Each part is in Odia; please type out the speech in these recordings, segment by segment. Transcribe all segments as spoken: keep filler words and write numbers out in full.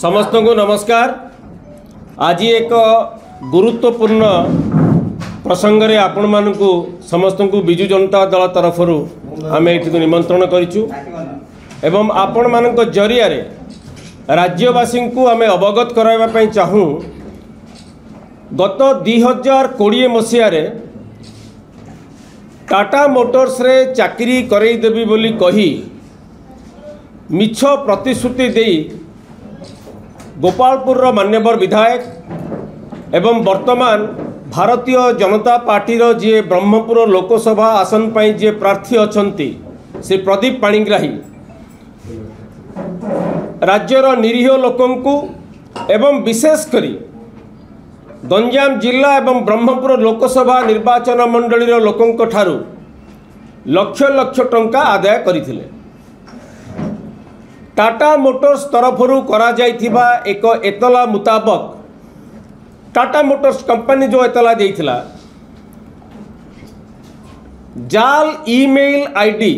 ସମସ୍ତଙ୍କୁ ନମସ୍କାର। ଆଜି ଏକ ଗୁରୁତ୍ୱପୂର୍ଣ୍ଣ ପ୍ରସଙ୍ଗରେ ଆପଣମାନଙ୍କୁ ସମସ୍ତଙ୍କୁ ବିଜୁ ଜନତା ଦଳ ତରଫରୁ ଆମେ ଏଠିକୁ ନିମନ୍ତ୍ରଣ କରିଛୁ ଏବଂ ଆପଣମାନଙ୍କ ଜରିଆରେ ରାଜ୍ୟବାସୀଙ୍କୁ ଆମେ ଅବଗତ କରାଇବା ପାଇଁ ଚାହୁଁ। ଗତ ଦୁଇ ହଜାର କୋଡ଼ିଏ ମସିହାରେ ଟାଟା ମୋଟର୍ସରେ ଚାକିରି କରେଇଦେବି ବୋଲି କହି ମିଛ ପ୍ରତିଶ୍ରୁତି ଦେଇ ଗୋପାଳପୁରର ମାନ୍ୟବର ବିଧାୟକ ଏବଂ ବର୍ତ୍ତମାନ ଭାରତୀୟ ଜନତା ପାର୍ଟିର ଯିଏ ବ୍ରହ୍ମପୁର ଲୋକସଭା ଆସନ ପାଇଁ ଯିଏ ପ୍ରାର୍ଥୀ ଅଛନ୍ତି, ଶ୍ରୀ ପ୍ରଦୀପ ପାଣିଗ୍ରାହୀ, ରାଜ୍ୟର ନିରୀହ ଲୋକଙ୍କୁ ଏବଂ ବିଶେଷ କରି ଗଞ୍ଜାମ ଜିଲ୍ଲା ଏବଂ ବ୍ରହ୍ମପୁର ଲୋକସଭା ନିର୍ବାଚନ ମଣ୍ଡଳୀର ଲୋକଙ୍କ ଠାରୁ ଲକ୍ଷ ଲକ୍ଷ ଟଙ୍କା ଆଦାୟ କରିଥିଲେ। ଟାଟା ମୋଟର୍ସ ତରଫରୁ କରାଯାଇଥିବା ଏକ ଏତଲା ମୁତାବକ, ଟାଟା ମୋଟର୍ସ କମ୍ପାନୀ ଯେଉଁ ଏତଲା ଦେଇଥିଲା, ଜାଲ ଇମେଲ ଆଇଡି,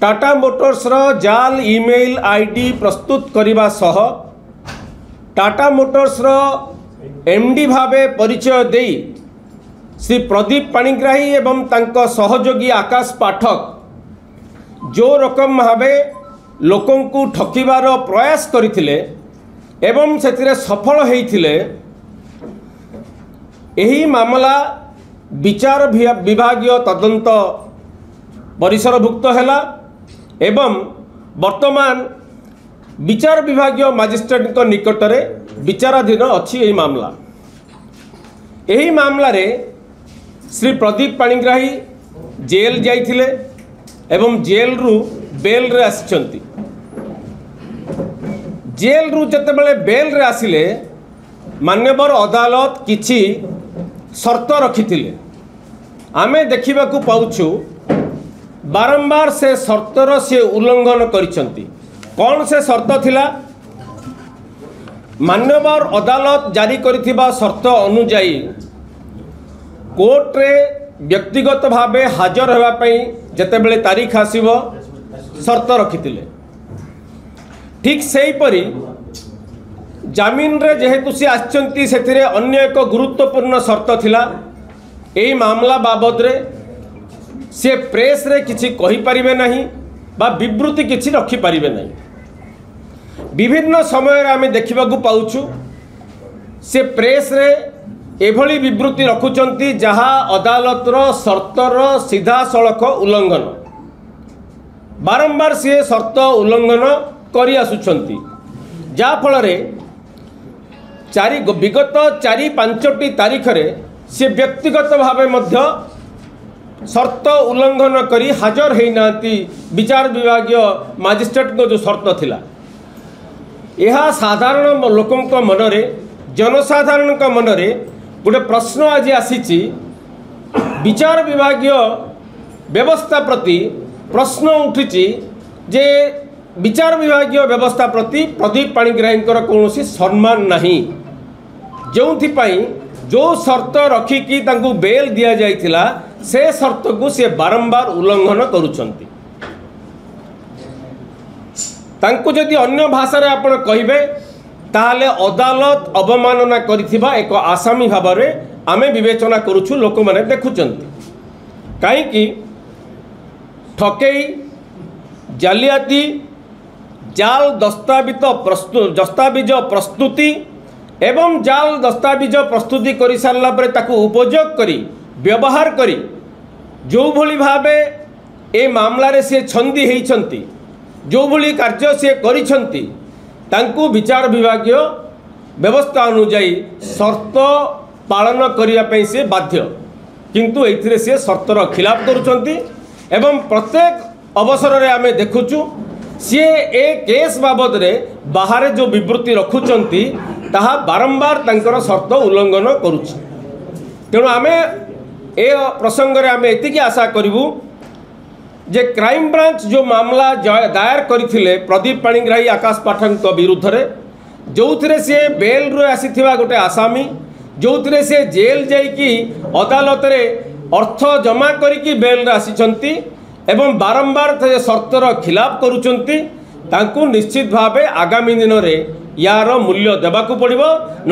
ଟାଟା ମୋଟର୍ସର ଜାଲ ଇମେଲ ଆଇଡି ପ୍ରସ୍ତୁତ କରିବା ସହ ଟାଟା ମୋଟର୍ସର ଏମ୍ଡି ଭାବେ ପରିଚୟ ଦେଇ ଶ୍ରୀ ପ୍ରଦୀପ ପାଣିଗ୍ରାହୀ ଏବଂ ତାଙ୍କ ସହଯୋଗୀ ଆକାଶ ପାଠକ ଯେଉଁ ରକମ ଭାବେ ଲୋକଙ୍କୁ ଠକିବାର ପ୍ରୟାସ କରିଥିଲେ ଏବଂ ସେଥିରେ ସଫଳ ହୋଇଥିଲେ, ଏହି ମାମଲା ବିଚାର ବିଭାଗୀୟ ତଦନ୍ତ ପରିସରଭୁକ୍ତ ହେଲା ଏବଂ ବର୍ତ୍ତମାନ ବିଚାର ବିଭାଗୀୟ ମାଜିଷ୍ଟ୍ରେଟଙ୍କ ନିକଟରେ ବିଚାରାଧୀନ ଅଛି ଏହି ମାମଲା। ଏହି ମାମଲାରେ ଶ୍ରୀ ପ୍ରଦୀପ ପାଣିଗ୍ରାହୀ ଜେଲ୍ ଯାଇଥିଲେ ଏବଂ ଜେଲ୍ରୁ ବେଲ୍ରେ ଆସିଛନ୍ତି। ଜେଲ୍ରୁ ଯେତେବେଳେ ବେଲ୍ରେ ଆସିଲେ, ମାନ୍ୟବର ଅଦାଲତ କିଛି ସର୍ତ୍ତ ରଖିଥିଲେ। ଆମେ ଦେଖିବାକୁ ପାଉଛୁ ବାରମ୍ବାର ସେ ସର୍ତ୍ତର ସେ ଉଲ୍ଲଂଘନ କରିଛନ୍ତି। କ'ଣ ସେ ସର୍ତ୍ତ ଥିଲା? ମାନ୍ୟବର ଅଦାଲତ ଜାରି କରିଥିବା ସର୍ତ୍ତ ଅନୁଯାୟୀ କୋର୍ଟରେ ବ୍ୟକ୍ତିଗତ ଭାବେ ହାଜର ହେବା ପାଇଁ ଯେତେବେଳେ ତାରିଖ ଆସିବ ସର୍ତ୍ତ ରଖିଥିଲେ। ଠିକ୍ ସେହିପରି ଜାମିନରେ ଯେହେତୁ ସେ ଆସିଛନ୍ତି, ସେଥିରେ ଅନ୍ୟ ଏକ ଗୁରୁତ୍ୱପୂର୍ଣ୍ଣ ସର୍ତ୍ତ ଥିଲା, ଏହି ମାମଲା ବାବଦରେ ସେ ପ୍ରେସ୍ରେ କିଛି କହିପାରିବେ ନାହିଁ ବା ବିବୃତି କିଛି ରଖିପାରିବେ ନାହିଁ। ବିଭିନ୍ନ ସମୟରେ ଆମେ ଦେଖିବାକୁ ପାଉଛୁ ସେ ପ୍ରେସ୍ରେ ଏଭଳି ବିବୃତି ରଖୁଛନ୍ତି ଯାହା ଅଦାଲତର ସର୍ତ୍ତର ସିଧାସଳଖ ଉଲ୍ଲଂଘନ। ବାରମ୍ବାର ସିଏ ସର୍ତ୍ତ ଉଲ୍ଲଂଘନ କରି ଆସୁଛନ୍ତି, ଯାହାଫଳରେ ଚାରି ବିଗତ ଚାରି ପାଞ୍ଚଟି ତାରିଖରେ ସେ ବ୍ୟକ୍ତିଗତ ଭାବେ ମଧ୍ୟ ସର୍ତ୍ତ ଉଲ୍ଲଂଘନ କରି ହାଜର ହେଇନାହାନ୍ତି ବିଚାର ବିଭାଗୀୟ ମାଜିଷ୍ଟ୍ରେଟଙ୍କ ଯେଉଁ ସର୍ତ୍ତ ଥିଲା। ଏହା ସାଧାରଣ ଲୋକଙ୍କ ମନରେ, ଜନସାଧାରଣଙ୍କ ମନରେ ଗୋଟେ ପ୍ରଶ୍ନ ଆଜି ଆସିଛି। ବିଚାର ବିଭାଗୀୟ ବ୍ୟବସ୍ଥା ପ୍ରତି ପ୍ରଶ୍ନ ଉଠିଛି ଯେ ବିଚାର ବିଭାଗୀୟ ବ୍ୟବସ୍ଥା ପ୍ରତି ପ୍ରଦୀପ ପାଣିଗ୍ରାହୀଙ୍କର କୌଣସି ସମ୍ମାନ ନାହିଁ, ଯେଉଁଥିପାଇଁ ଯେଉଁ ସର୍ତ୍ତ ରଖିକି ତାଙ୍କୁ ବେଲ୍ ଦିଆଯାଇଥିଲା ସେ ସର୍ତ୍ତକୁ ସେ ବାରମ୍ବାର ଉଲ୍ଲଂଘନ କରୁଛନ୍ତି। ତାଙ୍କୁ ଯଦି ଅନ୍ୟ ଭାଷାରେ ଆପଣ କହିବେ, ତାହେଲେ ଅଦାଲତ ଅବମାନନା କରିଥିବା ଏକ ଆସାମୀ ଭାବରେ ଆମେ ବିବେଚନା କରୁଛୁ, ଲୋକମାନେ ଦେଖୁଛନ୍ତି। କାହିଁକି ଠକେଇ, ଜାଲିଆତି, ଜାଲ ଦସ୍ତାବିଜ ପ୍ରସ୍ତୁ ଦସ୍ତାବିଜ ପ୍ରସ୍ତୁତି ଏବଂ ଜାଲ ଦସ୍ତାବିଜ ପ୍ରସ୍ତୁତି କରିସାରିଲା ପରେ ତାକୁ ଉପଯୋଗ କରି, ବ୍ୟବହାର କରି ଯେଉଁଭଳି ଭାବେ ଏ ମାମଲାରେ ସିଏ ଛନ୍ଦି ହେଇଛନ୍ତି, ଯେଉଁଭଳି କାର୍ଯ୍ୟ ସିଏ କରିଛନ୍ତି, ତାଙ୍କୁ ବିଚାର ବିଭାଗୀୟ ବ୍ୟବସ୍ଥା ଅନୁଯାୟୀ ସର୍ତ୍ତ ପାଳନ କରିବା ପାଇଁ ସେ ବାଧ୍ୟ। କିନ୍ତୁ ଏଇଥିରେ ସିଏ ସର୍ତ୍ତର ଖିଲାପ କରୁଛନ୍ତି ଏବଂ ପ୍ରତ୍ୟେକ ଅବସରରେ ଆମେ ଦେଖୁଛୁ ସିଏ ଏ କେସ୍ ବାବଦରେ ବାହାରେ ଯେଉଁ ବିବୃତି ରଖୁଛନ୍ତି ତାହା ବାରମ୍ବାର ତାଙ୍କର ସର୍ତ୍ତ ଉଲ୍ଲଂଘନ କରୁଛି। ତେଣୁ ଆମେ ଏ ପ୍ରସଙ୍ଗରେ ଆମେ ଏତିକି ଆଶା କରିବୁ ଯେ କ୍ରାଇମବ୍ରାଞ୍ଚ ଯେଉଁ ମାମଲା ଦାୟର କରିଥିଲେ ପ୍ରଦୀପ ପାଣିଗ୍ରାହୀ, ଆକାଶ ପାଠକଙ୍କ ବିରୁଦ୍ଧରେ, ଯେଉଁଥିରେ ସିଏ ବେଲ୍ରୁ ଆସିଥିବା ଗୋଟେ ଆସାମୀ, ଯେଉଁଥିରେ ସେ ଜେଲ୍ ଯାଇକି ଅଦାଲତରେ ଅର୍ଥ ଜମା କରିକି ବେଲ୍ରେ ଆସିଛନ୍ତି ଏବଂ ବାରମ୍ବାର ସେ ସର୍ତ୍ତର ଖିଲାପ କରୁଛନ୍ତି, ତାଙ୍କୁ ନିଶ୍ଚିତ ଭାବେ ଆଗାମୀ ଦିନରେ ୟାର ମୂଲ୍ୟ ଦେବାକୁ ପଡ଼ିବ,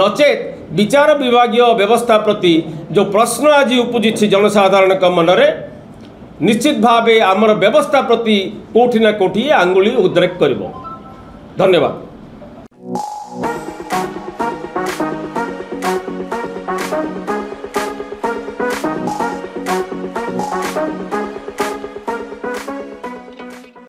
ନଚେତ୍ ବିଚାର ବିଭାଗୀୟ ବ୍ୟବସ୍ଥା ପ୍ରତି ଯେଉଁ ପ୍ରଶ୍ନ ଆଜି ଉପୁଜିଛି ଜନସାଧାରଣଙ୍କ ମନରେ, ନିଶ୍ଚିତ ଭାବେ ଆମର ବ୍ୟବସ୍ଥା ପ୍ରତି କେଉଁଠି ନା କେଉଁଠି ଆଙ୍ଗୁଳି ଉଦ୍ରେକ କରିବ। ଧନ୍ୟବାଦ।